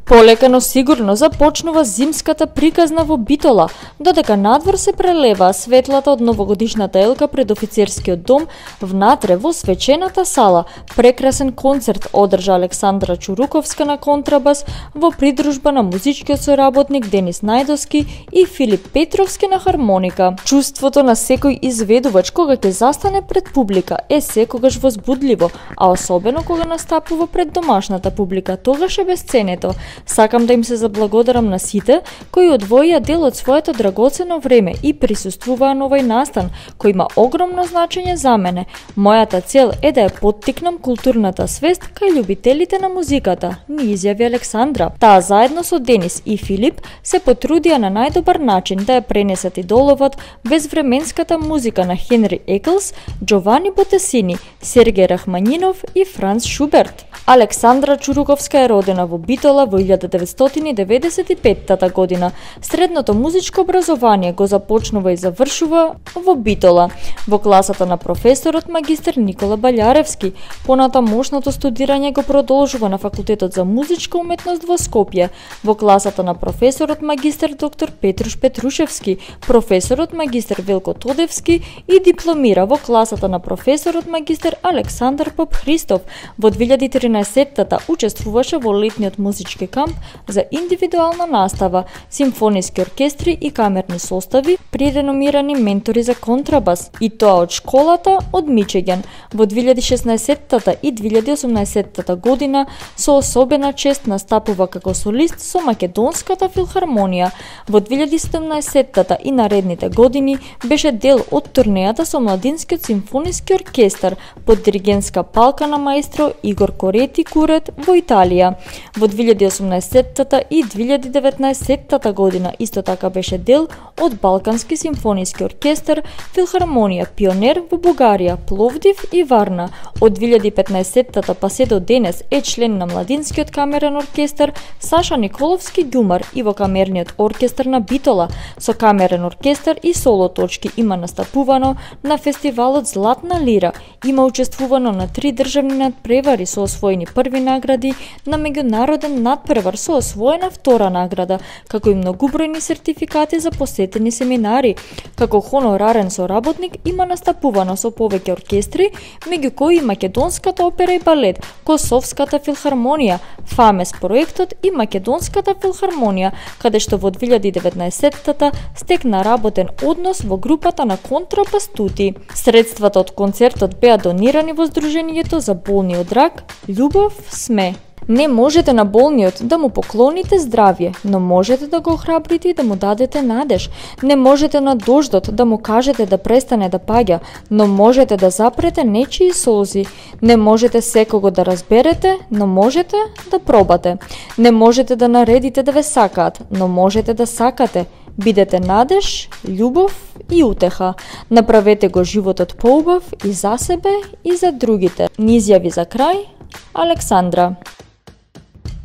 Полека но сигурно започнува зимската приказна во Битола, додека надвор се прелеваа светлата од новогодишната елка пред офицерскиот дом, внатре во свечената сала прекрасен концерт одржа Александра Чуруковска на контрабас во придружба на музичкиот соработник Денис Најдовски и Филип Петровски на хармоника. Чувството на секој изведувач кога ќе застане пред публика е секогаш возбудливо, а особено кога настапува пред домашната публика, тогаш е бесценето. Сакам да им се заблагодарам на сите кои одвоија дел од своето драгоцено време и присуствуваа на овој настан, кој има огромно значење за мене. Мојата цел е да ја поттикнам културната свест кај љубителите на музиката, ни изјави Александра. Таа заедно со Денис и Филип се потрудија на најдобар начин да ја пренесат идоловот безвременската музика на Хенри Еклс, Джовани Ботесини, Сергеј Рахманинов и Франц Шуберт. Александра Чуруковска е родена во Битола во 1995 година. Средното музичко образование го започнува и завршува во Битола, во класата на професорот магистер Никола Балјаревски. Поната мошното студирање го продолжува на факултетот за музичка уметност во Скопје, во класата на професорот магистер доктор Петруш Петрушевски, професорот магистер Велко Тодевски и дипломира во класата на професорот магистер Александар Поп Христов. Во 2013-та учествуваше во летниот музички камп за индивидуална настава, симфониски оркестри и камерни состави при реномирани ментори за контрабас, и тоа од школата од Мичиген. Во 2016-та и 2018-та година со особена чест настапува како солист со Македонската филхармонија. Во 2017-та и наредните години беше дел од турнејата со Младинскиот симфониски оркестар под диригентска палка на маестро Игор Корети Курет во Италија. Во 2018-та и 2019-та година исто така беше дел од Балкански симфониски оркестар, филхармонија Пионер во Бугарија, Пловдив и Варна. Од 2015-та па се до денес е член на Младинскиот камерен оркестар Саша Николовски Ѓумар и во камерниот оркестар на Битола. Со камерен оркестар и соло точки има настапувано на фестивалот Златна лира, има учествувано на 3 државни надпревари со освоени први награди, на меѓународен надпревар со освоена втора награда, како и многубројни сертификати за посетени семинари. Како хонорарен соработник има настапувано со повеќе оркестри, меѓу кои Македонската опера и балет, Косовската филхармонија, ФАМЕС проектот и Македонската филхармонија, каде што во 2019-та стекна работен однос во групата на контрабастути. Средствата од концертот беа донирани во Сдруженијето за болни од рак Љубов сме. Не можете на болниот да му поклоните здравје, но можете да го охрабрите и да му дадете надеж. Не можете на дождот да му кажете да престане да паѓа, но можете да запрете нечии солзи. Не можете секого да разберете, но можете да пробате. Не можете да наредите да ве сакаат, но можете да сакате. Бидете надеж, љубов и утеха. Направете го животот поубав и за себе и за другите. Ни изјави за крај Александра.